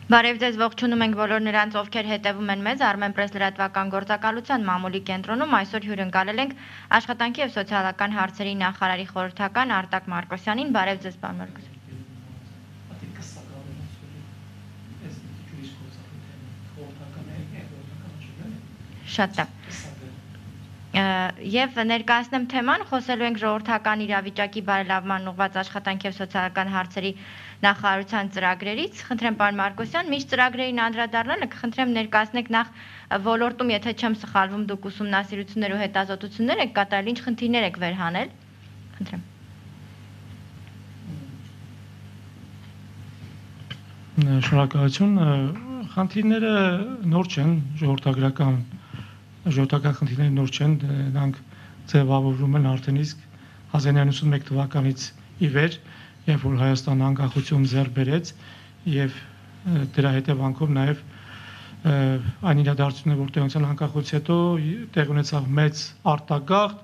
Բարև ձեզ, ողջունում ենք բոլոր նրանց, ովքեր հետևում են մեզ Armenpress լրատվական գործակալության մամուլի կենտրոնում։ Այսօր հյուրընկալել ենք աշխատանքի եւ սոցիալական հարցերի նախարարի խորհրդական Արտակ Մարկոսյանին։ Բարև ձեզ, պարոն Մարկոսյան։ Շատ լավ։ Եվ ներկայացնեմ թեման, խոսելու ենք ժողովրդական իրավիճակի բարելավման ուղղված աշխատանքի եւ սոցիալական հարցերի նախարարության ծրագրերից։ Խնդրեմ պարոն Մարկոսյան, միշտ ծրագրերին անդրադառնալը կխնդրեմ ներկայացնեք նախ ոլորտում, եթե չեմ սխալվում, դուք ուսումնասիրություններ ու հետազոտություններ եք կատարել, ինչ խնդիրներ եք վերհանել։ Խնդրեմ։ Շնորհակալություն։ Խնդիրները նոր չեն, ժողովրդական խնդիրները նոր չեն, նրանք ձևավորվում են արդեն իսկ 1991 թվականից ի վեր, երբ որ Հայաստանը անկախություն ձեռք բերեց եւ դրա հետևանքով նաեւ այն իրադարձությունները, որ տեղի ունեցան անկախությունից հետո տեղ ունեցավ մեծ արտագաղթ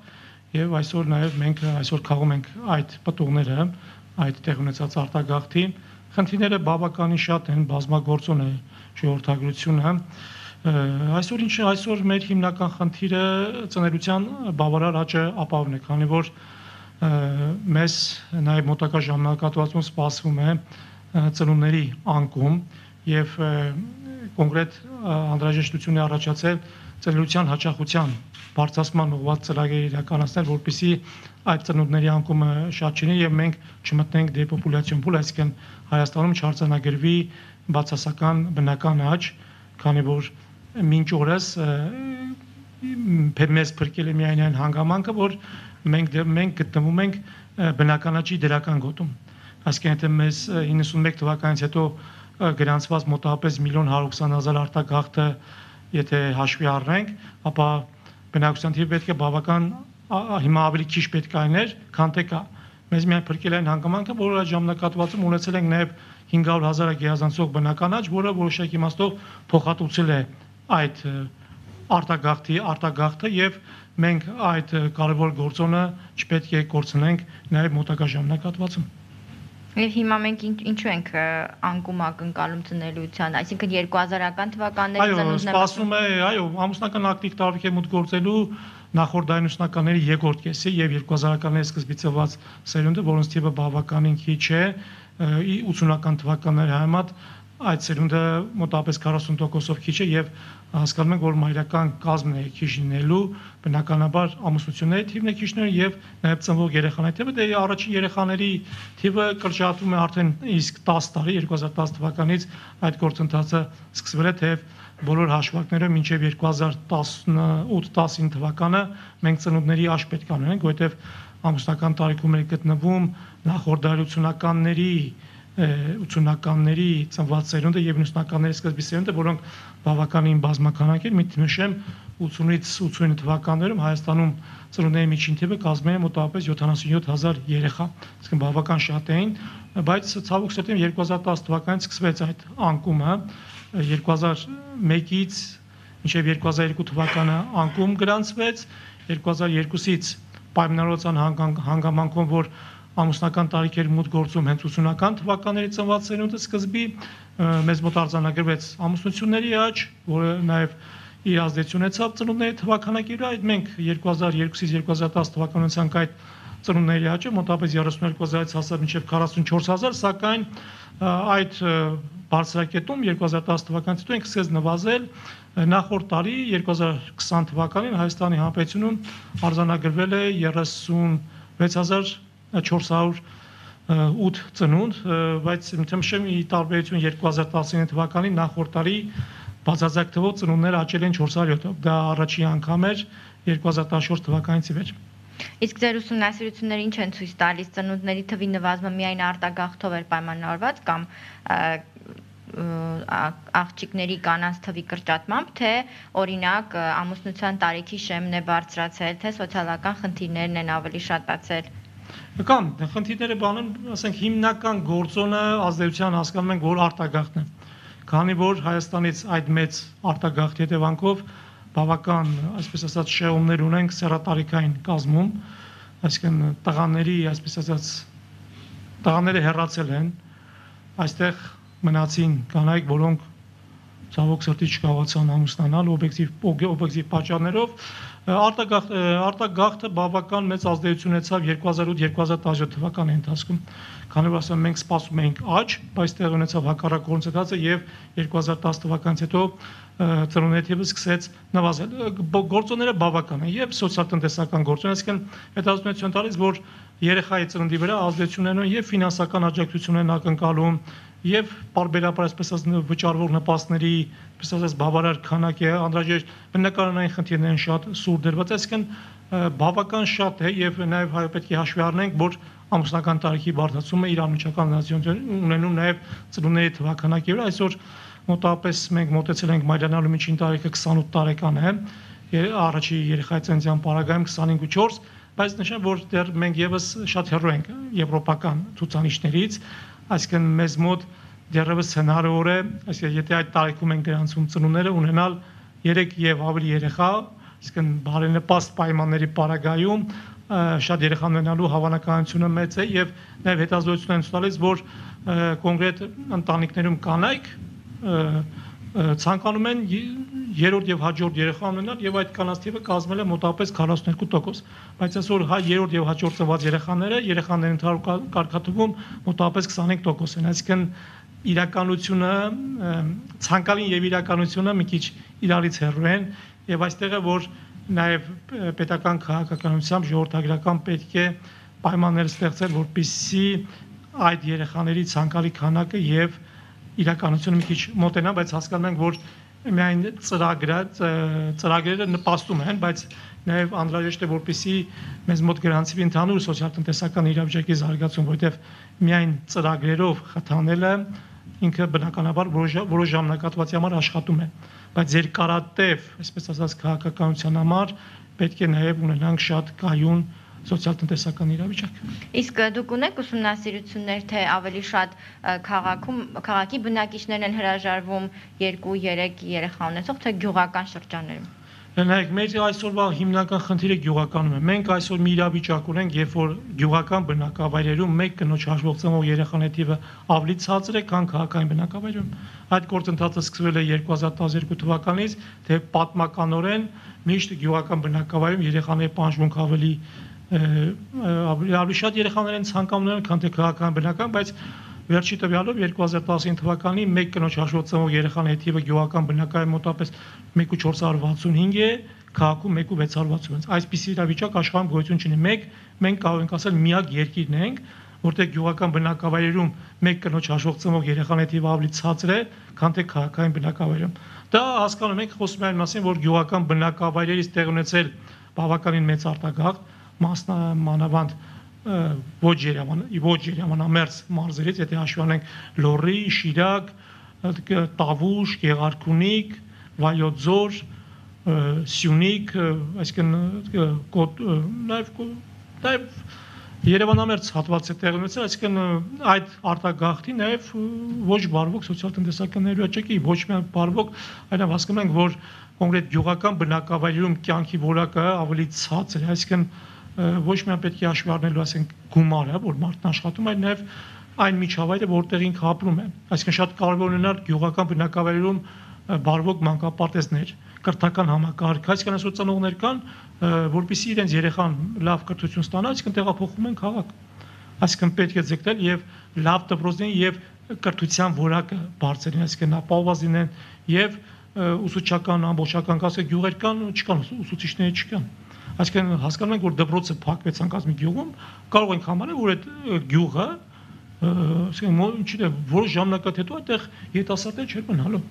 եւ այսօր նաեւ մենք այսօր քաղում ենք այդ պտուղները, այդ տեղ ունեցած արտագաղթի խնդիրները բավականին շատ են, բազմագործուն է ժողովրդագրությունը։ Այսօր մեր հիմնական խնդիրը ծնելիության բավարար աճը ապահովն է, քանի որ մեզ նաև մոտակա ժամանակահատվածում սպասվում է ծնունդների անկում եւ կոնկրետ անհրաժեշտություն է առաջացել ծնելիության հաճախության բարձրացման ուղղված ծրագրեր իրականացնել, որպեսզի այդ ծնունդների անկումը շատ չլինի եւ մենք չմտնենք դեպոպուլյացիոն փուլ, այսինքն Հայաստանում չարձանագրվի բացասական բնական աճ, քանի որ մինչ օրս մեզ փրկել է միայն այն հանգամանքը, որ մենք գտնվում ենք բնական աճի դրական գոտում։ Այսինքն եթե մեզ 91 թվականից հետո գրանցված մոտավորապես 1.120.000 արտագաղթը եթե հաշվի առնենք, ապա բնակչության թիվը պետք է բավական հիմա ավելի քիչ պետք է լիներ, քան թե կա։ Մեզ միայն փրկել այն հանգամանքը, որ այդ ժամանակահատվածում ունեցել ենք նաև 500,000 գերազանցող բնական աճ, որը որոշակի իմաստով փոխհատուցել է այդ արտագաղթը եւ մենք այդ կարևոր գործոնը չպետք է կորցնենք նաև մոտակա ժամանակահատվածում։ Եվ հիմա մենք ինչու ենք անկում ակնկալում ծնելիության, այսինքն 2000-ական թվականների ծնունդները։ Այո, սպասվում է, ամուսնական ակտիվ տարիք է մուտք գործելու նախորդ ամուսնականների երկրորդ կեսի եւ 2000-ականների սկզբից ծնված սերունդը, որոնց թիվը բավականին քիչ է, 80-ական թվականների համեմատ այդ սերունդը մոտավորապես 40%-ով քիչ է եւ հասկանում ենք, որ մայրական կազմն է քիչ լինելու, բնականաբար ամուսնությունների թիվն է քիչներ եւ նաեւ ծնվող երեխաների թիվը, դե առաջին երեխաների թիվը կրճատվում է արդեն իսկ 10 տարի, 2010 թվականից այդ գործընթացը սկսվել է, թեև բոլոր հաշվարկները մինչեւ 2018-19 թվականը մենք ծնունդների աճ պետք է ունենանք, որովհետեւ ամուսնական տարիքում ենք գտնվում նախորդ 80-ականների ծնված սերունդը եւ 90-ականների սկզբի սերունդը, որոնք բավականին բազմականակ են, նշեմ 80-ից 89 թվականներում Հայաստանում ծնունդների միջին թիվը կազմել է մոտավորապես 77,000 երեխա, այսինքն բավական շատ էին, բայց ցավոք սրտի 2010 թվականից սկսվեց այդ անկումը, 2001-ից մինչև 2002 թվականը անկում գրանցվեց, 2002-ից պայմանավորվածության հանգամանքով, որ ամուսնական տարիքեր մուտք գործում հենց 80-ական թվականների ծնված սերունդը սկզբի մեզ մոտ արձանագրվեց ամուսնությունների աճ, որը նաև իր ազդեցություն ունեցավ ծնունդների թվականակի վրա, այդ մենք 2002-ից 2010 թվականին ունեցանք այդ ծնունդների աճը մոտավորապես 32,000-ից հասավ մինչև 44,000, սակայն այդ բարձրակետում 2010 թվականից հետո ինքը սկսեց նվազել, նախորդ տարի 2020 թվականին Հայաստանի Հանրապետությունում արձանագրվել է 36,408 ծնունդ, բայց նշեմ ի տարբերություն 2019 թվականին նախորդ տարի բացարձակ թվով ծնունդները աճել են 407-ով, դա առաջին անգամ էր 2014 թվականից ի վեր։ Իսկ ձեր ուսումնասիրությունները ինչ են ցույց տալիս, ծնունդների թվի նվազմը միայն արտագաղթով էր պայմանավորված կամ աղջիկների կանանց թվի կրճատմամբ, թե օրինակ ամուսնության տարիքի շեմն է բարձրացել, թե սոցիալական խնդիրներն են ավելի շատացել։ Կամ խնդիրները բանն, ասենք հիմնական գործոնը ազդեցության հասկանում ենք, որ արտագաղթն է։ Քանի որ Հայաստանից այդ մեծ արտագաղթի հետևանքով բավական, այսպես ասած, շեղումներ ունենք սեռատարիքային կազմում, այսինքն տղաների, այսպես ասած, տղաները հեռացել են, այստեղ մնացին կանայք, որոնք ցավոք սրտի չկարողացան ամուսնանալ օբյեկտիվ պատճառներով։ Արտագաղթը բավական մեծ ազդեցություն ունեցավ 2008-2017 թվականի ընթացքում, քանի որ ասեմ մենք սպասում էինք աճ, բայց տեղի ունեցավ հակառակ գործընթացը եւ 2010 թվականից հետո ծնունդների թիվը սկսեց նվազել։ Գործոնները բավական են եւ սոցիալ-տնտեսական գործոն, այսինքն հետազոտություն տալիս, որ երեխայի ծննդի վրա ազդեցություն ունեն եւ ֆինանսական աջակցություն են ակնկալում եւ պարբերաբար այսպես ասած վճարվող նպաստների, այսպես ասած բավարար քանակի անհրաժեշտ բնականային խնդիրներ են շատ սուր դրված, այսինքն բավական շատ է եւ նաեւ պետք է հաշվի առնենք, որ ամուսնական տարիքի բարդացումը իր անմիջական ազդեցություն ունենում նաեւ ծնունդների թվականակի վրա։ Այսօր մոտավորապես մենք մոտեցել ենք մայրանալու միջին տարիքը 28 տարեկան է, առաջի երեխայի ծննդյան պարագայում 25.4, բայց նշեմ, որ դեռ մենք եւս շատ հեռու ենք եվրոպական ցուցանիշներից, այսինքն մեզ մոտ դեռևս հնարավոր է, այսինքն եթե այդ տարիքում են գրանցում ծնունդները ունենալ 3 եւ ավելի երեխա, այսինքն բարենպաստ պայմանների պարագայում շատ երեխա ունենալու հավանականությունը մեծ է եւ նաեւ հետազոտություններ են ցույց տալիս, որ կոնկրետ ընտանիքներում կանայք ցանկանում են երրորդ եւ հաջորդ երեխա ունենալ եւ այդ կանանց թիվը կազմել է մոտավորապես 42%, բայց այսօր երրորդ եւ հաջորդ ծնված երեխաների ընդհանուր կարգաթվում մոտավորապես 25% են, այսինքն իրականությունը ցանկալին եւ իրականությունը մի քիչ իրարից հեռու են եւ այստեղ է որ նաեւ պետական քաղաքականությամբ ժողովրդագրական պետք է պայմաններ ստեղծել, որպեսզի այդ երեխաների ցանկալի քանակը եւ իրականությունը մի քիչ մոտենա, բայց հասկանում ենք, որ միայն ծրագրերը նպաստում են, բայց նաև անհրաժեշտ է որպեսզի մեզ մոտ գրանցվի ընդհանուր սոցիալ-տնտեսական իրավիճակի զարգացում, որովհետև միայն ծրագրերով խթանելը ինքը բնականաբար որոշ ժամանակահատվածի համար աշխատում է, բայց երկարատև, այսպես ասած, քաղաքականության համար պետք է նաև ունենանք շատ կայուն սոցիալ-տնտեսական իրավիճակ։ Իսկ դուք ունեք ուսումնասիրություններ, թե ավելի շատ քաղաքի բնակիչներն են հրաժարվում 2-3 երեխա ունեցող, թե գյուղական շրջաններում։ Նայեք, մեր այսօրվա հիմնական խնդիրը գյուղականում է։ Մենք այսօր մի իրավիճակ ունենք, երբ որ գյուղական բնակավայրերում մեկ կնոջ հաշվով ծնող երեխաների թիվը ավելի ցածր է, քան քաղաքային բնակավայրերում։ Այդ գործընթացը սկսվել է 2012 թվականից, թե պատմականորեն միշտ գյուղական բնակավայրում երեխաների պահանջմունք ավելի շատ երեխաներ են ցանկանում ունենալ, քան թե քաղաքական բնակավայրում, բայց վերջի տվյալով 2019 թվականի մեկ կնոջ հաշվով ծնող երեխաների թիվը գյուղական բնակավայրում մոտավորապես 1.465 է, քաղաքում 1.666։ Այսպիսի իրավիճակ աշխարհում գոյություն չունի։ Մենք կարող ենք ասել միակ երկիրն ենք, որտեղ գյուղական բնակավայրերում մեկ կնոջ հաշվով ծնող երեխաների թիվը ավելի ցածր է, քան թե քաղաքային բնակավայրում։ Դա հասկանում ենք, խոսում ենք այն մասին, որ գյուղական բնակավայրերից տեղ ունեցել բավականին մեծ արտագաղթ, մանավանդ ոչ երևանամերձ մարզերից, եթե հաշվի առնենք Լոռի, Շիրակ, Տավուշ, Գեղարքունիք, Վայոց ձոր, Սյունիք, այսինքն նաև Երևանամերձ հատվածը տեղի ունեցել, այսինքն այդ արտագաղթի նաև ոչ բարվոք սոցիալ-տնտեսական ներուժակի, ոչ միայն բարվոք, այլև հասկանում ենք, որ կոնկրետ գյուղական բնակավայրերում կյանքի որակը ավելի ցածր է, այսինքն ոչ միայն պետք է հաշվի առնելու, ասենք, գումարը, որ մարդն աշխատում, այլ նաև այն միջավայրը, որտեղ ինքը ապրում է։ Այսինքն շատ կարևոր ունենալ գյուղական բնակավայրերում բարվոք մանկապարտեզներ, կրթական համակարգ, այսինքն այսօր ծնողներ կան, որպեսզի իրենց երեխան լավ կրթություն ստանա, այսինքն տեղափոխվում են քաղաք։ Այսինքն պետք է ձգտել եւ լավ դպրոցներին եւ կրթության որակը բարձրին, այսինքն ապահովված լինեն եւ ուսուցչական, ամբողջական կասը գյուղեր կան, չկան ուսուցիչներ չկան։ Այսինքն հասկանում ենք, որ դպրոցը փակվեց անկած մի գյուղում, կարող ենք համարել, որ այդ գյուղը, այսինքն որոշ ժամանակից հետո այդտեղ երիտասարդներ չեն մնալու։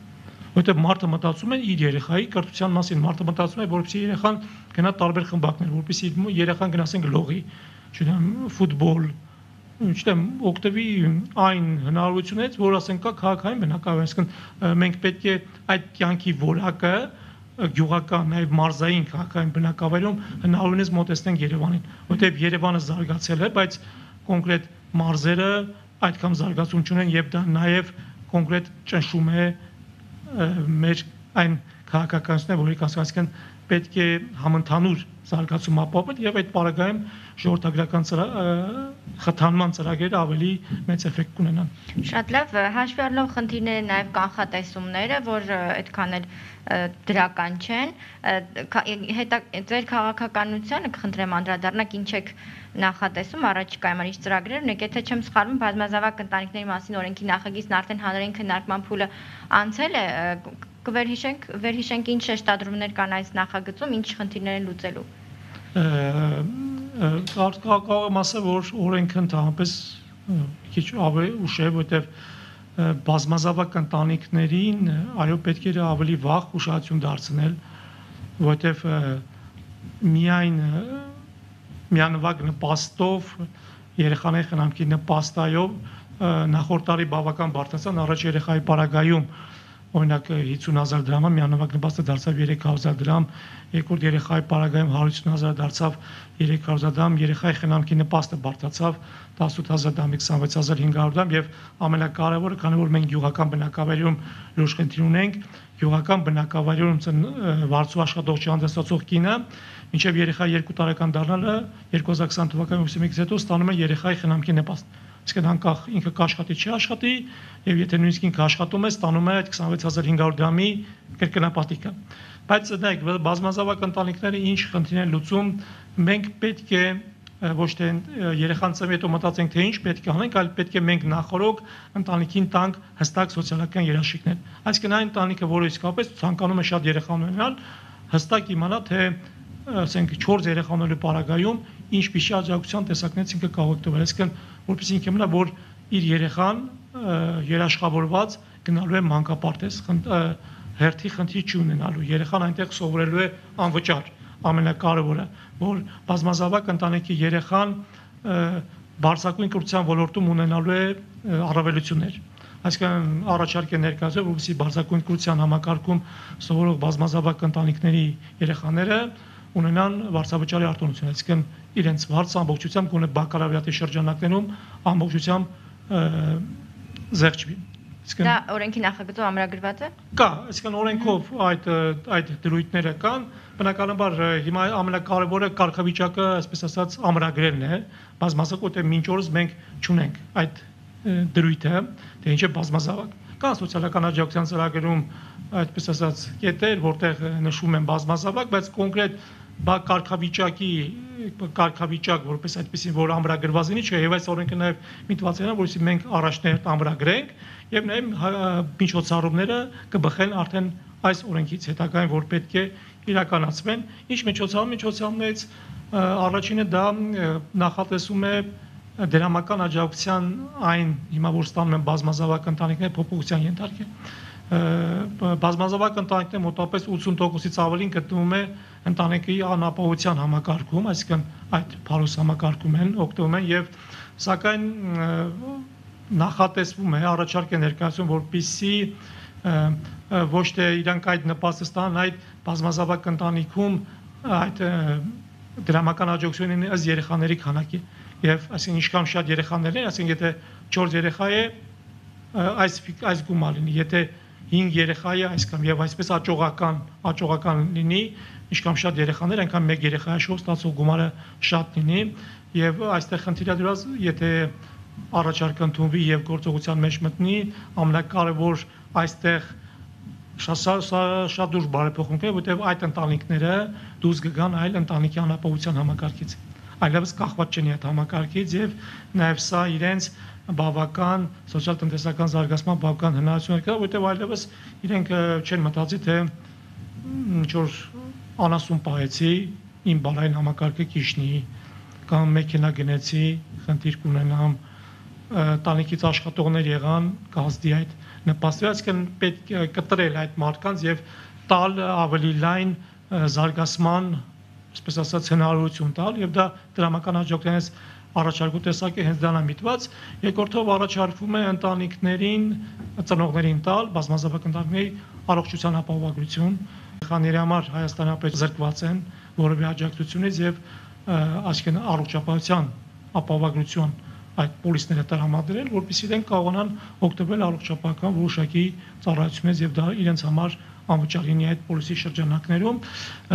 Որտեղ մարդը մտածում է իր երեխայի կրթության մասին, մարդը մտածում է, որպեսզի երեխան գնա տարբեր խմբակներ, որպեսզի երեխան գնացենք լողի, չգիտեմ, ֆուտբոլ, չգիտեմ, օգտվի այն հնարավորություններից, որ ասենք կա քաղաքային բնակավայր, այսինքն մենք պետք է այդ կյանքի որակը գյուղական, նաև մարզային քաղաքային բնակավայրում հնարավորինս մոտեցնենք Երևանին, որտեղ Երևանը զարգացել է, բայց կոնկրետ մարզերը այդքան զարգացում չունեն եւ դա նաև կոնկրետ ճնշում է մեր այն քաղաքականությունները, որի կասկածքն պետք է համընդհանուր զարգացում ապահովել եւ այդ պարագայում ժողովրդագրական խթանման ծրագրերը ավելի մեծ էֆեկտ կունենան։ Շատ լավ, հաշվի առնելով խնդիրները նաև կանխատեսումները, որ այդքան էլ դրական չեն, ձեր քաղաքականությանը կխնդրեմ անդրադառնաք, ինչ եք նախատեսում առաջիկայում ինչ ծրագրեր ունեք, եթե չեմ սխալվում, բազմազավակ ընտանիքների մասին օրենքի նախագիծն արդեն հանրային քննարկման փուլը անցել է, վերհիշենք ինչ շեշտադրումներ կան այս նախագծում, ինչ խնդիրներ են լուծելու։ Կարող եմ ասել, որ օրենքը ընդհանրապես քիչ ավելի ուշ է, որտեղ բազմազավակ ընտանիքներին այո պետք է ավելի վաղ ուշադրություն դարձնել, որտեղ միանվագ նպաստով երեխաների խնամքի նպաստայով նախորդ տարի բավական բարձրացան, առաջ երեխայի պարագայում օրինակ 50,000 դրամը միանվագ նպաստը դարձավ 300,000 դրամ, երկրորդ երեխայի պարագայում 150,000 դարձավ 300,000 դրամ, երեխայի խնամքի նպաստը բարձրացավ 18,000 դրամից 26,500 դրամ եւ ամենակարևորը, քանի որ մենք գյուղական բնակավայրում լուրջ խնդիր ունենք, գյուղական բնակավայրում վարձու աշխատող չհանդեսացող կինը մինչեւ երեխայի 2 տարեկան դառնալը 2020 թվականի հուլիսից հետո ստանում է երեխայի խնամքի նպաստ։ Իսկ անկախ ինքը կաշխատի չի աշխատի եւ եթե նույնիսկ ինքը աշխատում է, ստանում է այդ 26500 դրամի կրկնապատիկը։ Բայց նայեք, բազմազավակ ընտանիքները ինչ խնդիր են լուծում, մենք պետք է ոչ թե երեխան ծնվի հետո մտածենք թե ինչ պետք է անենք, այլ պետք է մենք նախորոք ընտանիքին տանք հստակ սոցիալական երաշխիքներ։ Այսինքն այն ընտանիքը, որը իսկապես ցանկանում է շատ երեխա ունենալ, հստակ իմանա թե ասենք 4 երեխա ունենալու պարագայում ինչ պիշի աջակցության տեսակներից ինքը կարող է տվել, այսինքն որպես ինքը մնա, որ իր երեխան երաշխավորված գնալու է մանկապարտեզ, հերթի խնդիր չի ունենալու, երեխան այնտեղ սովորելու է անվճար, ամենակարևորը, որ բազմազավակ ընտանիքի երեխան բարձրագույն կրթության ոլորտում ունենալու է առավելություններ։ Այսինքն առաջարկ է ներկայացվել, որովհետեւ բարձրագույն կրթության համակարգում սովորող բազմազավակ ընտանիքների երեխաները ունենան վարձավճարի արտոնություն, այսինքն իրենց վարձ ամբողջությամբ գոնե բակալավրիատի շրջանակներում ամբողջությամբ զեղչվի։ Դա օրենքի նախագծում ամրագրված է։ Կա, այսինքն օրենքով այդ դրույթները կան, բնականաբար հիմա ամենակարևորը կարգավիճակը, այսպես ասած, ամրագրելն է, բազմազավակ, որտեղ մինչ օրս մենք չունենք այդ դրույթը, թե ինչ է բազմազավակ։ Կան սոցիալական աջակցության ծրագրերում, այսպես ասած, կետեր, որտեղ նշվում են բազմազավակ, բայց կոնկրետ կարգավիճակ, որպես այդպեսին, որ ամրագրված լինի, չէ, եւ այս օրենքը նաեւ միտված է, որովհետեւ մենք առաջներ ամրագրենք եւ նաեւ միջոցառումները կբխեն արդեն այս օրենքից հետագային, որ պետք է իրականացվեն։ Ինչ միջոցառումներից առաջինը դա նախատեսում է դրամական աջակցության այն հիմա որ ստանում են բազմազավակ ընտանիքները փոփոխության ենթարկել։ Բազմազավակ ընտանիքները մոտավորապես 80%-ից ավելին գտնվում է ընտանիքի անապահովության համակարգում, այսինքն այդ փարոս համակարգում են օգտվում են եւ սակայն նախատեսվում է առաջարկ է ներկայացում, որպեսզի ոչ թե իրանք այդ նպաստը ստանան, այդ բազմազավակ ընտանիքում այդ դրամական աջակցությունն ըստ երեխաների քանակի եւ այսինքն ինչքան շատ երեխաներ են, այսինքն եթե 4 երեխա է այս գումարը լինի, եթե 5 երեխա է այսքան եւ այսպես աճողական լինի, ինչքան շատ երեխաներ, այնքան մեկ երեխայի շոու ստացող գումարը շատ լինի եւ այստեղ խնդիրը դրած, եթե առաջարկ ընդունվի եւ գործողության մեջ մտնի, ամենակարևոր այստեղ շատ դուրս բարեփոխումներ, որտեղ այդ ընտանիքները դուրս կգան այլ ընտանիքի անապահովության համակարգից, այլևս կախված չեն այդ համակարգից եւ նաեւ սա իրենց բավական սոցիալ-տնտեսական զարգացման բավական հնարավորություններ կա, որտեղ այլևս իրենք չեն մտածի թե ինչ որ անասուն պահեցի, իմ բալային համակարգը կիշնի կամ մեքենա գնեցի, խնդիր կունենամ, տանիքից աշխատողներ եղան, կազդի այդ նպաստի, այսինքն պետք է կտրել այդ մարդկանց եւ տալ ավելի լայն զարգացման, այսպես ասած, հնարավորություն տալ եւ դա դրամական աջակցությունից առաջարկու տեսակ է հենց դրանա միտված, երկրորդով առաջարկվում է ընտանիքներին, ծնողներին տալ, բազմազավակ ընտանիքների առողջության ապահովագրություն, երեխաների համար Հայաստանի ապետ զրկված են որևէ աջակցությունից եւ այսինքն առողջապահության ապահովագրություն այդ պոլիսները տրամադրել, որպեսզի իրենք կարողանան օգտվել առողջապահական որոշակի ծառայություններից եւ դա իրենց համար անվճար լինի այդ պոլիսի շրջանակներում։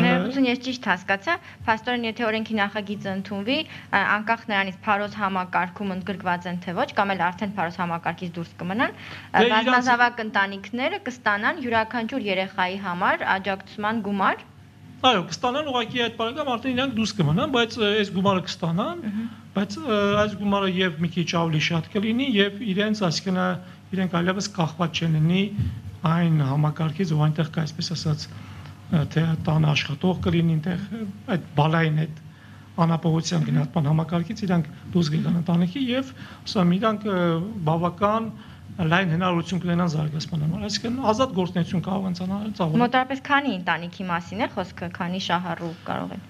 Ներողություն, ես ճիշտ հասկացա, փաստորեն եթե օրենքի նախագիծը ընդունվի, անկախ նրանից փարոս համակարգում ընդգրկված են թե ոչ, կամ էլ արդեն փարոս համակարգից դուրս կմնան, բազմազավակ ընտանիքները կստանան յուրաքանչյուր երեխայի համար աջակցության գումար։ Այո, կստանան ուղղակի այդ բaragam արդեն իրանք դուրս կմնան, բայց այս գումարը կստանան, բայց այս գումարը եւ մի քիչ ավելի շատ կլինի եւ իրենց, այսինքն իրենք այլևս կախված չեն լինի այն համակարգից, ու այնտեղ կա, այսպես ասած, թե տան աշխատող կլինի, այնտեղ այդ բալային այդ անապահովության գնահատման համակարգից իրանք դուրս գան ընտանիքի եւ ասում իրանք բավական լայն հնարավորություն կունենան զարգացման համար, այսինքն ազատ գործունեություն կարող են ծավալել։ Մոտավորապես քանի ընտանիքի մասին է խոսքը, քանի շահառու կարող են։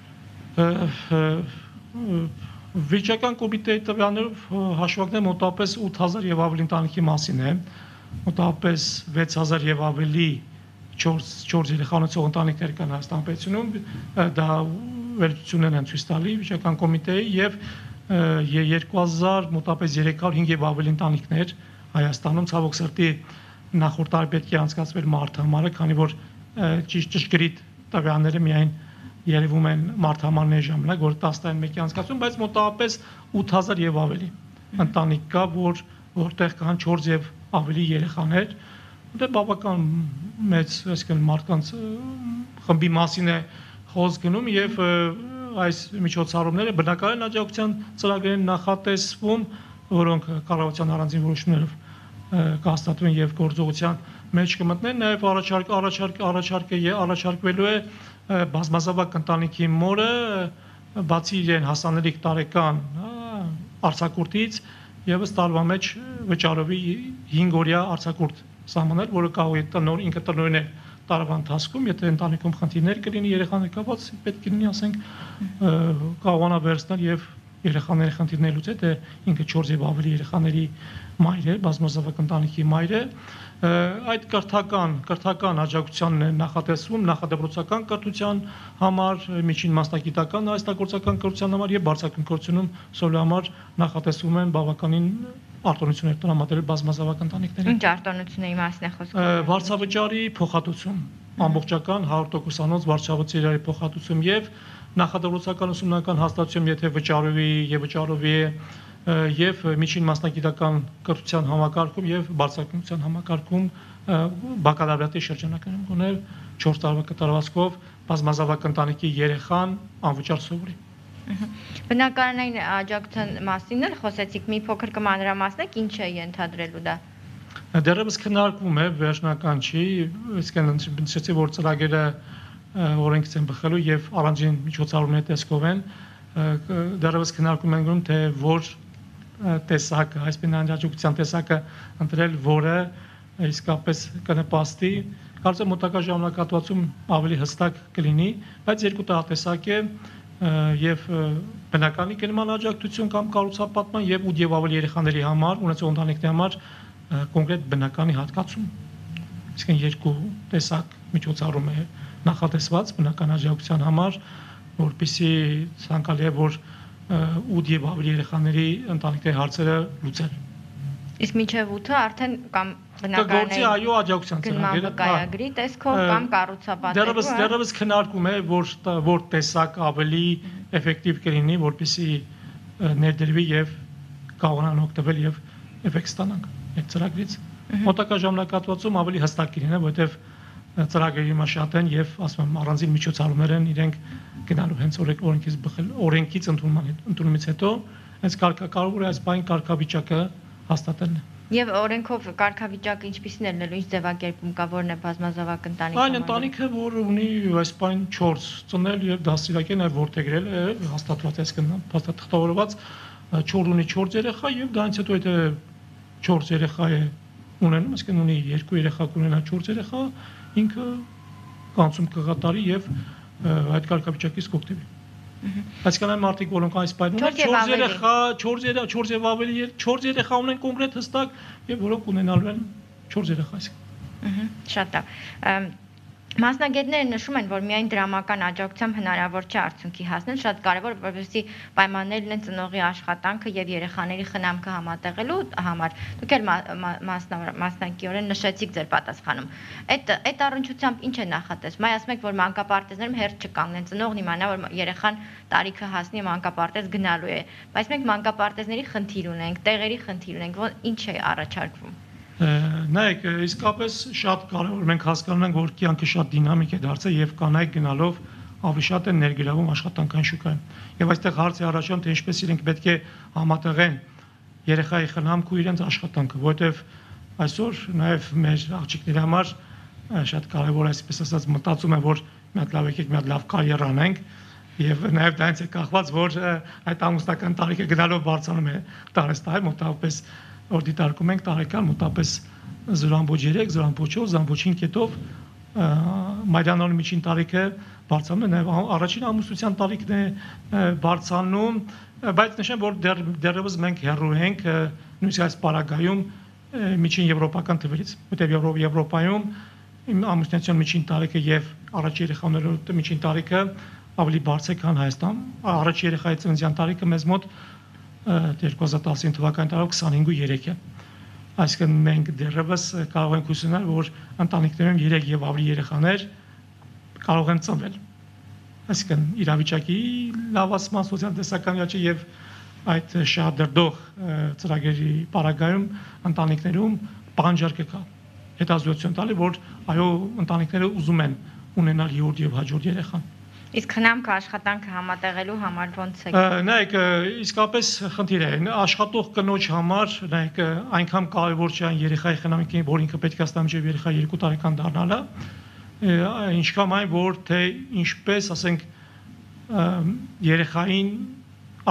Վիճական կոմիտեի տվյալներով հաշվարկները մոտավորապես 8000 եւ ավելի ընտանիքի մասին է, մոտավորապես 6000 եւ ավելի 4 երեխա ունեցող ընտանիքներ կան Հայաստան պետությունում, դա վերլուծություններ են ցույց տալի վիճական կոմիտեի եւ 2000 մոտավորապես 305 եւ ավելի ընտանիքներ Հայաստանում, ցավոք սրտի նախորդ տարի պետք է անցկացվեր մարտահամարը, քանի որ ճշգրիտ տվյալները միայն երևում են մարտահամարների ժամանակ, որ 10-11-ի անցկացում, բայց մոտավորապես 8000 եւ ավելի ընտանիք կա, որտեղ կան 4 եւ ավելի երեխաներ, դա բավական մեծ, այսինքն մարդկանց խմբի մասին է խոսք գնում եւ այս միջոցառումները բնակարան աջակցության ծրագրերին նախատեսվում, որոնք կառավարության առանձին որոշումներով կհաստատվեն եւ գործողության մեջ կմտնեն, նաեւ առաջարկվելու է բազմազավակ ընտանիքի մորը բացի իրեն հասանելիք տարեկան արձակուրդից եւս տարվա մեջ վճարովի 5 օրյա արձակուրդ սահմանել, որը կարող է ինքը տնօրինել տարվա ընթացքում, եթե ընտանիքում խնդիրներ կլինի երեխաների կապված, պետք է լինի, ասենք, կարողանա վերցնել եւ երեխաների խնդիրներ լուծել, թե ինքը 4 եւ ավելի երեխաների մայր է, բազմազավակ ընտանիքի մայր է, այդ կրթական աջակցությանն է նախատեսվում նախադպրոցական կրթության համար, միջին մասնագիտական արհեստագործական կրթության համար եւ բարձրագույն կրթությունում սովորելու համար նախատեսվում են բավականին արտոնություններ տրամադրել բազմազավակ ընտանիքներին։ Ինչ արտոնությունների մասին է խոսքը։ Վարձավճարի փոխհատուցում, ամբողջական 100%-անոց վարձավճարի փոխհատուցում եւ նախադպրոցական ուսումնական հաստատություն, եթե վճարովի է եւ միջին մասնագիտական կրթության համակարգում եւ բարձրագույնության համակարգում բակալավրիատի շրջանակներում գոնել 4 տարվա կտրվածքով բազմազավակ ընտանիքի երեխան անվճար սովորի։ Բնակարանային աջակցության մասին էլ խոսեցիք, մի փոքր կմանրամասնեք, ինչ է ենթադրելու դա։ Դեռևս քննարկվում է, վերջնական չի, իսկ նշեցի, որ ծրագիրը օրենքից են բխելու եւ առանձին միջոցառումների տեսքով են, դեռևս քննարկում են գնում, թե որ տեսակը, այսպես աջակցության տեսակը ընտրել, որը իսկապես կնպաստի, կարծեմ մոտակա ժամանակահատվածում ավելի հստակ կլինի, բայց երկու տարատեսակ է եւ բնականի կենման աջակցություն կամ կառուցապատման եւ 8 եւ ավելի երեխաների համար, ունեցող ընտանիքների համար կոնկրետ բնականի հատկացում։ Իսկն երկու տեսակ միջոցառում է նախատեսված բնական աջակցության համար, որպեսզի ցանկալի է որ 8 եւ ավելի երեխաների ընտանիքների հարցերը լուծել։ Իսկ մինչև 8-ը արդեն կամ բնակարանային այո աջակցության ծրագիրը կայագրի տեսքով կամ կառուցապատելու։ Դեռևս քննարկում է որ տեսակ ավելի էֆեկտիվ կլինի, որպեսզի ներդրվի եւ կարողանան օգտվել եւ էֆեկտ ստանանք այդ ծրագրից։ Մոտակա ժամանակահատվածում ավելի հստակ կլինի, որովհետեւ ծրագրերի մաս են եւ ասում եմ առանձին միջոցառումներ են իրենք գնալու հենց օրենքից ընդունումից հետո հենց կարևոր է այս բանի կարգավիճակը հաստատելն է։ Եվ օրենքով կարգավիճակը ինչպիսին է լինելու, ինչ ձևակերպում կա, որն է բազմազավակ ընտանիքի համար։ Այն ընտանիքը, որ ունի այս բան 4 ծնել եւ դաստիարակել նաեւ որդեգրել է, հաստատված է թղթավորված 4 ունի 4 երեխա եւ դրանից հետո եթե 4 երեխա է ունենում, այսինքն ունի 2 երեխա կունենա 4 երեխա, ինքը կանցում կգատարի եւ այդ կարգավիճակից կօգտվի։ Այսինքն այն մարդիկ, որոնք այս պայմաններում 4 երեխա ունեն կոնկրետ հստակ եւ որոնք ունենալու են 4 երեխա այսինքն։ Շատ լավ։ Մասնագետները նշում են, որ միայն դրամական աջակցությամբ հնարավոր չէ արդյունքի հասնել, շատ կարևոր որպեսզի պայմաններ լինեն ծնողի աշխատանքը եւ երեխաների խնամքը համատեղելու համար։ Դուք էլ մասնակիորեն նշեցիք ձեր պատասխանում։ Այդ առնչությամբ ինչ է նախատեսվում։ Այ ասում եք, որ մանկապարտեզներում հերթ չկանգնեն, ծնողն իմանա, որ երեխան տարիքը հասնի մանկապարտեզ գնալու է, բայց մենք մանկապարտեզների խնդիր ունենք, տեղերի խնդիր ունենք, ինչ է առաջարկվում։ Նայեք, իսկապես շատ կարևոր մենք հասկանում ենք, որ կյանքը շատ դինամիկ է դարձել եւ կանայք գնալով ավելի շատ են ներգրավում աշխատանքային շուկայում։ Եվ այստեղ հարց է առաջանում, թե ինչպես իրենք պետք է համատեղեն երեխայի խնամքը ու իրենց աշխատանքը, որովհետեւ այսօր նաեւ մեր աղջիկների համար շատ կարևոր այսպես ասած մտածում եմ, որ մի հատ լավ եկեք, մի հատ լավ կարիերա անենք եւ նաեւ դրանից է կախված, որ այդ ամուսնական տարիքը գնալով բարձրանում է տարեստայ մոտավորապես որ դիտարկում ենք տարեկան մոտապես 0.3, 0.4, 0.5 կետով մայրյանալու միջին տարիքը բարձրանում է, նաև առաջին ամուսնության տարիքն է բարձրանում, բայց նշեմ, որ դեռևս մենք հեռու ենք նույնիսկ այս պարագայում միջին եվրոպական թվերից, որտեղ Եվրոպայում ամուսնության միջին տարիքը եւ առաջին երեխաների միջին տարիքը ավելի բարձր է, քան Հայաստան, առաջին երեխայի ծննդյան տարիքը մեզ մոտ 2019 թվականի տարով 25.3 է։ Այսինքն մենք դեռևս կարող ենք հուսանալ, որ ընտանիքներում 3 եւ ավելի երեխաներ կարող են ծնվել։ Այսինքն իրավիճակի լավացման սոցիալ-տնտեսական աճի եւ այդ շահադրդող ծրագրերի պարագայում ընտանիքներում պահանջարկը կա։ Հետազոտություն տալի, որ այո, ընտանիքները ուզում են ունենալ հյուրդ եւ հաջորդ երեխան։ Իսկ խնամքը աշխատանքը համատեղելու համար ո՞նց է։ Նայեք, իսկապես խնդիր է, աշխատող կնոջ համար, նայեք, այնքան կարևոր չէ այն երեխայի խնամքը, որ ինքը պետք է ստանա մինչև երեխայի 2 տարեկան դառնալը, ինչքան այն, որ թե ինչպես, ասենք, երեխային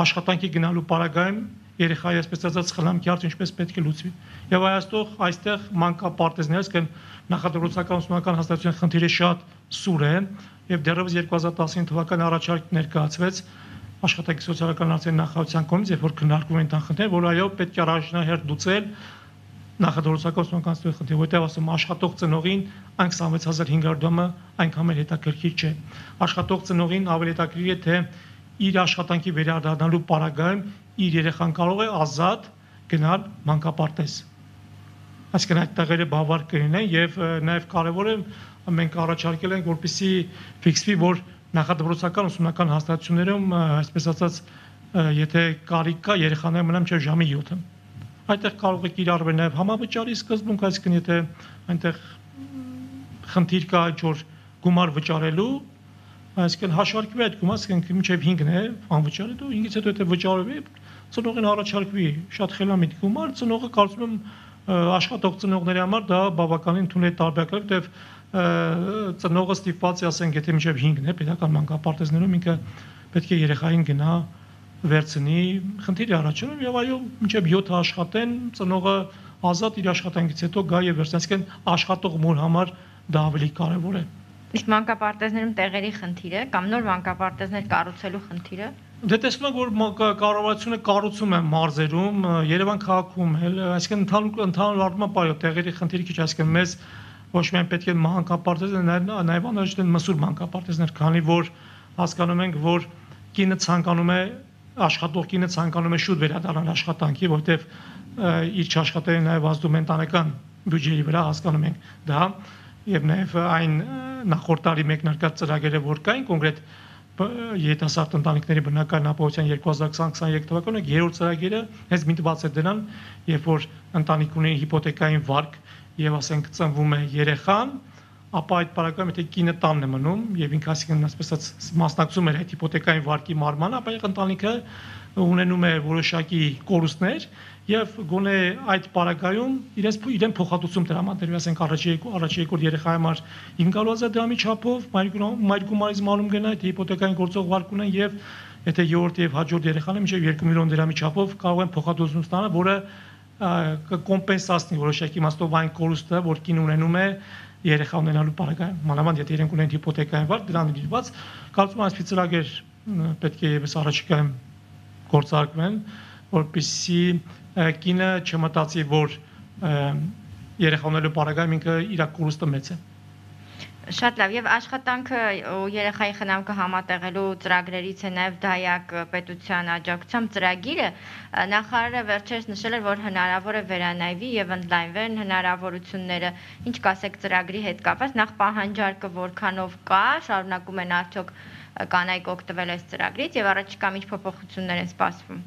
աշխատանքի գնալու պարագայում երեխայի այսպես ասած խնամքի հարցը ինչպես պետք է լուծվի։ Եվ այստեղ մանկապարտեզներից կան նախադպրոցական ուսումնական հաստատության խնդիրը շատ սուր է եւ դեռևս 2019 թվականի առաջարկ ներկայացվեց աշխատանքի սոցիալական հարցերի նախարարության կողմից, երբ որ քննարկվում են տան խնդիրները, որ այո պետք է առաջնահերթ լուծել նախադպրոցական ուսումնական հաստատության խնդիրը, որտեղ ասում աշխատող ծնողին այն 26500 դրամը այնքան էլ հետաքրքիր չէ։ Աշխատող ծնողին ավելի հետաքրքիր է թե իր աշխատանքի վերադառնալու պարագայում իր երեխան կարող է ազատ գնալ մանկապարտեզ։ Այսինքն այդ տեղերը բավարար կլինեն եւ նաեւ կարեւոր է մենք առաջարկել ենք որպեսզի ֆիքսվի, որ նախադպրոցական ուսումնական հաստատություններում այսպես ասած եթե կարիք կա երեխաները մնան մինչեւ ժամի 7-ը։ Այդտեղ կարող է կիրառվել նաեւ համավճարի սկզբունք, այսինքն եթե այնտեղ խնդիր կա ինչ-որ գումար վճարելու, այսինքն հաշվարկվի այդ գումարը, այսինքն մինչև 5-ն է անվճարը, դու 5-ից հետո եթե վճարվի, ծնողին առաջարկվի շատ խելամիտ գումար, ծնողը կարծում եմ աշխատող ծնողների համար դա բավականին թույլ տարբերակ է, որտեղ ծնողը ստիպված է, ասենք, եթե մինչև 5-ն է պետական մանկապարտեզներում ինքը պետք է երեխային գնա վերցնի, խնդիրի առաջանում եւ այո մինչև 7-ը աշխատեն, ծնողը ազատ իր աշխատանքից հետո գա եւ վերցնի, այսինքն աշխատող մոր համար դա ավելի կարեւոր է։ Իսկ մանկապարտեզներում տեղերի խնդիրը կամ նոր մանկապարտեզներ կառուցելու խնդիրը։ Դե տեսնում եք, որ կառավարությունը կառուցում է մարզերում, Երևան քաղաքում էլ, այսինքն ընդհանուր առմամբ այո, տեղերի խնդիրը քիչ, այսինքն մեզ ոչ միայն պետք է մանկապարտեզներ, նաեւ անհրաժեշտ են մսուր մանկապարտեզներ, քանի որ հասկանում ենք, որ կինը ցանկանում է աշխատող կինը ցանկանում է շուտ վերադառնալ աշխատանքի, որտեղ իր չաշխատելը նաեւ ազդում է ընտանեկան բյուջեի վրա, հասկանում ենք դա, եւ նաեւ այն նախորդ տարի մեկնարկած ծրագրերը, որ կային կոնկրետ երիտասարդ ընտանիքների բնակարան ապահովության 2020-23 թվականը երրորդ ծրագիրը հենց միտված է դրան, երբ որ ընտանիք ունի հիպոթեկային վարկ եւ ասենք ծնվում է երեխան, ապա այդ պարագայում եթե կինը տանն է մնում եւ ինքը ասենք ասես մասնակցում էր այդ հիպոթեկային վարկի մարմանը, ապա ընտանիքը ունենում է որոշակի կորուստներ եւ գոնե այդ պարագայում իրեն փոխհատուցում տրամադրվի, ասենք առաջի երկրորդ երեխայի համար 500,000 դրամի չափով մայրգումարից մանում գնա այդ հիպոթեկային գործող վարկ ունեն եւ եթե երրորդ եւ հաջորդ երեխան է մինչեւ 2 միլիոն դրամի չափով կարող են փոխհատուցում ստանալ, որը կկոմպենսացնի որոշակի իմաստով այն կորուստը, որ կին ունենում է երեխա ունենալու պարագայում, մանավանդ եթե իրենք ունեն հիպոթեկային վարկ, դրան դիված, կարծում եմ այսպես ծրագիր պետք է եւս առաջիկայում գործարկվեն, որպեսզի կինը չմտածի, որ երեխա ունենալու պարագայում ինքը իր կորուստը մեծ է։ Շատ լավ, եւ աշխատանքը ու երեխայի խնամքը համատեղելու ծրագրերից է նաեւ դայակ պետության աջակցությամբ ծրագիրը, նախարարը վերջերս նշել էր, որ հնարավոր է վերանայվի եւ ընդլայնվեն հնարավորությունները, ինչ կասեք ծրագրի հետ կապված, նախ պահանջարկը որքանով կա, շարունակում են արդյոք կանայք օգտվել այս ծրագրից եւ առաջիկա ինչ փոփոխություններ են սպասվում։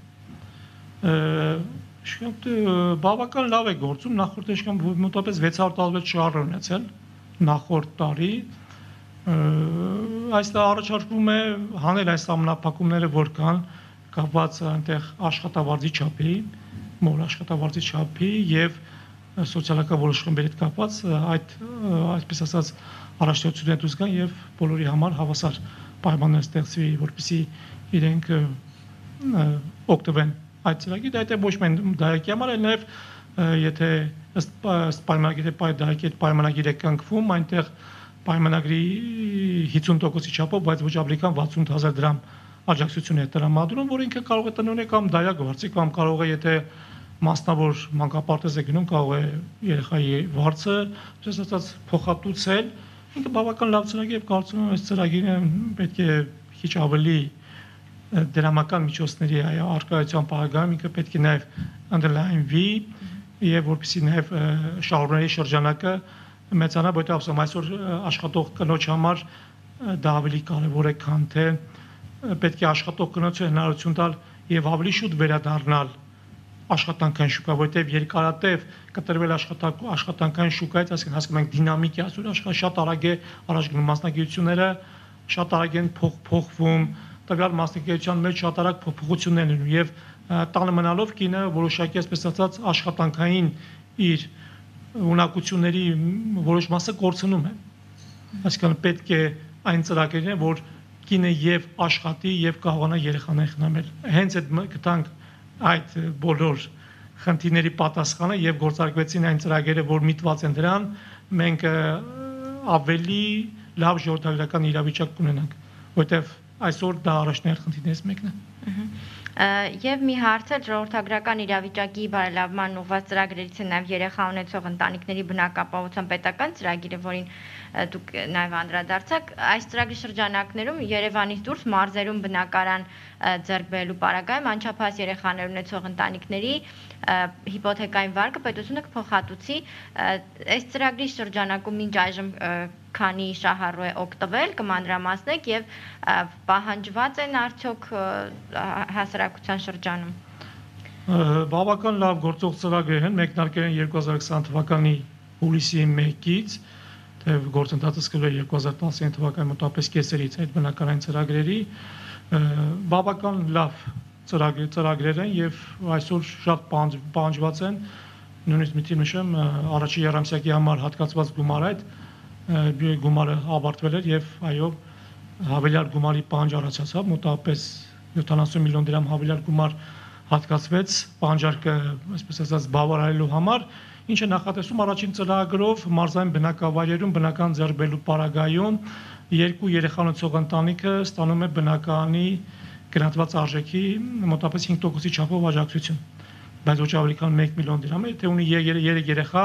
Բավական լավ է գործում, նախորդ աշկան մոտավորապես 616 շահառ ունեցել նախորդ տարի, այստեղ առաջարկվում է հանել այս ամենափակումները, որ կան կապված այնտեղ աշխատավարձի չափի, մոր աշխատավարձի չափի եւ սոցիալական որոշ խմբերի հետ կապված այդ այսպես ասած առաջնորդությունները դուրս գան եւ բոլորի համար հավասար պայմաններ ստեղծվի, որպեսզի իրենք օգտվեն այդ ծրագիրը, դա ոչ միայն դայակի համար, այլ նաեւ եթե ըստ պայմանագրի դայակի հետ պայմանագիր է կնքվում, այնտեղ պայմանագրի 50%-ի չափով, բայց ոչ ավելի քան 68000 դրամ աջակցություն է տրամադրում, որ ինքը կարող է տնօրեն կամ դայակ վարձի կամ կարող է եթե մասնավոր մանկապարտեզ է գնում, կարող է երեխայի վարձը, այսպես ասած, փոխհատուցել, ինքը բավական լավ ծրագիր է, կարծում եմ այս ծրագիրը պետք է քիչ ավելի դրամական միջոցների առկայության պարագայում ինքը պետք է նաև ընդլայնվի եւ որպեսզի նաև շահառուների շրջանակը մեծանա, որտեղ ասում այսօր աշխատող կնոջ համար դա ավելի կարևոր է, քան թե պետք է աշխատող կնոջը հնարավորություն տալ եւ ավելի շուտ վերադառնալ աշխատանքային շուկա, որտեղ երկարատև կտրվել աշխատանքային շուկայից, այսինքն հասկանում ենք դինամիկ է, այսօր շատ արագ է առաջ գնում մասնագիտությունները, շատ արագ են փոխվում, տվյալ մասնագիտության մեջ շատ արագ փոփոխություններ են եւ տանը մնալով կինը որոշակի այսպես ասած աշխատանքային իր ունակությունների որոշ մասը կորցնում է։ Այսինքն պետք է այն ծրագրերն, որ կինը եւ աշխատի եւ կարողանա երեխաներ խնամել։ Հենց այդ գտանք այդ բոլոր խնդիրների պատասխանը եւ գործարկվեցին այն ծրագրերը, որ միտված են դրան, մենք ավելի լավ ժողովրդական իրավիճակ կունենանք, որտեղ այսօր դա առաջնահերթ խնդիրներից մեկն է։ Եվ մի հարց է ժողովրդագրական իրավիճակի բարելավման ուղղված ծրագրերից է նաև երեխա ունեցող ընտանիքների բնակապահովության պետական ծրագիրը, որին դուք նաև անդրադարձաք, այս ծրագրի շրջանակներում Երևանից դուրս մարզերում բնակարան ձեռք բերելու պարագայում անչափահաս երեխաներ ունեցող ընտանիքների հիպոթեկային վարկը պետությունը կփոխհատուցի, այս ծրագրի շրջանակում մինչ այժմ քանի շահառու է օգտվել, կմանրամասնեք եւ պահանջված են արդյոք հասարակության շրջանում։ Բավական լավ գործող ծրագրեր են, մեկնարկել են 2020 թվականի հուլիսի 1-ից, թե գործընթացը սկսվել 2019 թվականի մոտավորապես կեսերից այդ բնակարան ծրագրերի, բավական լավ ծրագրեր են եւ այսօր շատ պահանջված են, նույնիսկ մի թիվ նշեմ, առաջի երամսյակի համար հատկացված գումարը ավարտվել էր եւ այո հավելյալ գումարի պահանջ առաջացավ, մոտավորապես 70 միլիոն դրամ հավելյալ գումար հատկացվեց պահանջարկը, այսպես ասած, բավարարելու համար, ինչը նախատեսում առաջին ծրագրով մարզային բնակավայրերում բնական ձեռբերելու պարագայում երկու երեխա ունեցող ընտանիքը ստանում է բնականի գրանցված արժեքի մոտավորապես 5%-ի չափով աջակցություն, բայց ոչ ավելի քան 1 միլիոն դրամ է, թե ունի 3 երեխա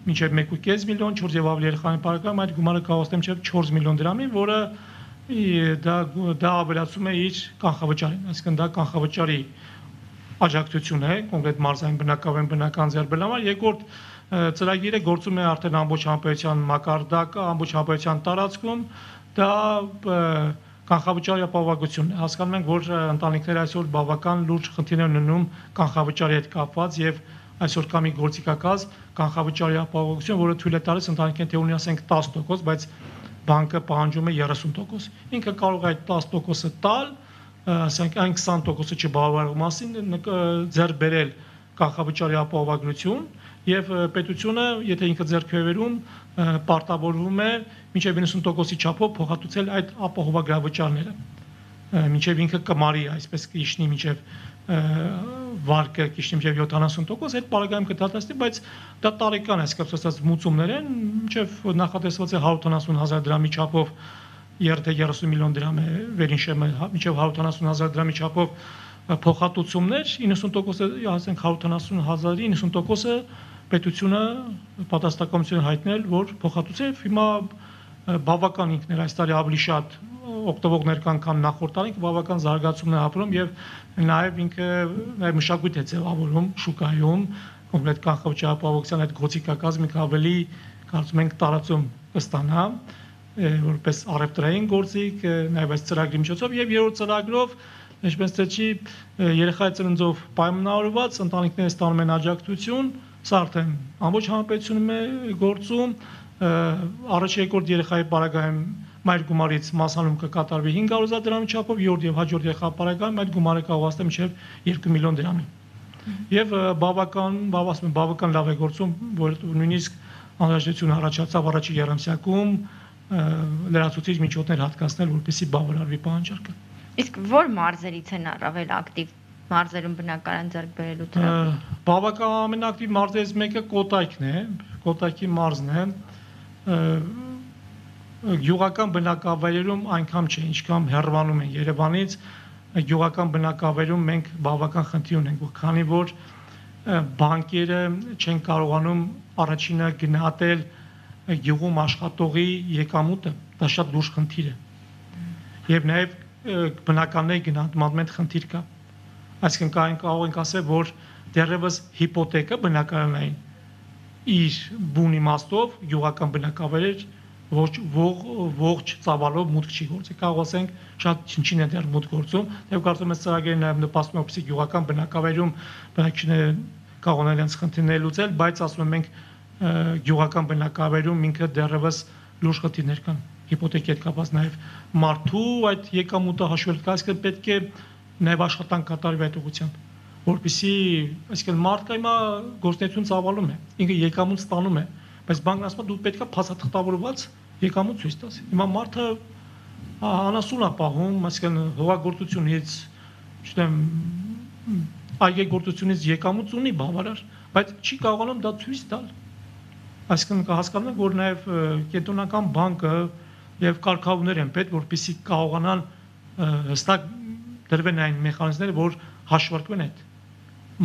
մինչև 1.5 միլիոն, 4 եւ ավելի երեխաների պարագայում այդ գումարը կհասնի մինչև 4 միլիոն դրամի, որը դա ավելացում է իր կանխավճարին, այսինքն դա կանխավճարի աջակցություն է, կոնկրետ մարզային բնակավայրում բնական ձեռբերման, երկրորդ ծրագիրը գործում է արդեն ամբողջ համապետության մակարդակը, ամբողջ համապետության տարածքում, դա կանխավճարի ապահովությունն է, հասկանում ենք, որ ընտանիքները այսօր բավական լուրջ խնդիրներ ունենում կանխավճարի հետ կապված եւ այսօր կա մի գործիքակազ կանխավճարի ապահովություն, որը թույլ է տալիս ընտանիքին թե ունի ասենք 10%, բայց բանկը պահանջում է 30%։ Ինքը կարող է այդ 10%-ը տալ, ասենք այն 20%-ը չբավարարող մասին ձեռք բերել կանխավճարի ապահովագրություն եւ պետությունը, եթե ինքը ձեռք է բերում, պարտավորվում է մինչեւ 90%-ի չափով փոխհատուցել այդ ապահովագրավճարները։ Մինչեւ ինքը կմարի, այսպես կիջնի մինչեւ վարկը կիջնի մինչեւ 70%, այդ պարագայում կդատաստի, բայց դա տարեկան է, այսպես ասած, մուծումներ են, մինչեւ նախատեսված է 170,000 դրամի չափով 30 միլիոն դրամ է վերինշեմը, մինչեւ 170,000 դրամի չափով փոխհատուցումներ, 90%-ը, ասենք 170,000-ի 90%-ը պետությունը պատասխանատվություն հայտնել, որ փոխհատուցել, հիմա բավական ինքներ այս տարի ավելի շատ օգտվողներ կան, քան նախորդ տարի, բավական զարգացումներ ապրում եւ նաեւ ինքը նաեւ մշակույթ է ձևավորում շուկայում, կոմպլետ կանխաչափահոսության այդ գոցիկակազմը ավելի կարծում ենք տարածում կստանա որպես առևտրային գործիք, նաեւ այս ծրագրի միջոցով եւ երրորդ ծրագրով ինչպես թե երեխայի ծննդով պայմանավորված ընտանիքները ստանում են աջակցություն, սա արդեն ամբողջ հանրապետությունում է գործում, առաջ երկրորդ երեխայի պարագայում մայր գումարից մասանում կկատարվի 500,000 դրամի չափով, երրորդ եւ հաջորդ երեխա պարագայում այդ գումարը կարող հասնել մինչեւ 2 միլիոն դրամի։ Եվ բավական լավ է գործում, որ նույնիսկ անհրաժեշտություն առաջացավ առաջի երամսյակում լրացուցիչ միջոցներ հատկացնել, որպեսզի բավարարվի պահանջարկը։ Իսկ որ մարզերից են առավել ակտիվ մարզերում բնակարան ձեռք բերելու ծրագիրը։ Բավական ամենաակտիվ մարզերից մեկը Կոտայքն է, Կոտայքի մարզն է։ Գյուղական բնակավայրերում այնքան չէ, ինչքան հեռվանում են Երևանից, գյուղական բնակավայրում մենք բավական խնդիր ունենք, քանի որ բանկերը չեն կարողանում առաջինը գնահատել գյուղում աշխատողի եկամուտը, դա շատ լուրջ խնդիր է։ Եվ նաև բնականների գնահատման մեջ խնդիր կա։ Այսինքն կարող ենք ասել, որ դեռևս հիպոթեկը բնակարանային իր բուն իմաստով գյուղական բնակավայրեր ողջ ծավալով մուտք չի գործի։ Կարող ասենք շատ չնչին է դեռ մուտք գործում, եւ կարծում եմ ծրագիրը նաեւ նպաստում է, որպեսզի գյուղական բնակավայրում բնակիչները կարողանան իրենց խնդիրները լուծել, բայց ասում եմ մենք գյուղական բնակավայրում ինքը դեռևս լուրջ խնդիրներ կան։ Հիպոթեկի հետ կապված նաեւ մարդու այդ եկամուտը հաշվել կա, այսինքն պետք է նաեւ աշխատանք կատարվի այդ ուղղությամբ, որպեսզի այսինքն մարդը հիմա գործունեություն ծավալում է, ինքը եկամուտ ստանում է, բայց բանկն ասում է դու պետքա փաստաթղթավորված եկամուտ ցույց տաս։ Հիմա մարդը անասուն է պահում, այսինքն հողագործությունից, չգիտեմ, այգեգործությունից եկամուտ ունի բավարար, բայց չի կարողանում դա ցույց տալ։ Այսինքն հասկանում եք, որ նաեւ կենտրոնական բանկը եւ կարգավորներ են պետք, որպեսզի կարողանան հստակ դրվեն այն մեխանիզմները, որ հաշվարկվեն այդ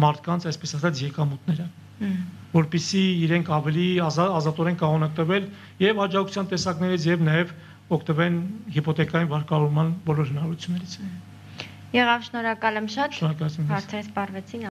մարդկանց, այսպես ասած, եկամուտները, որպեսզի իրենք ավելի ազատորեն կարողան օգտվել եւ աջակցության տեսակներից եւ նաեւ օգտվեն հիպոթեկային վարկավորման բոլոր հնարավորություններից։ Եղավ, շնորհակալ եմ շատ։ Շնորհակալություն։ Հարցերս սպառվեցին։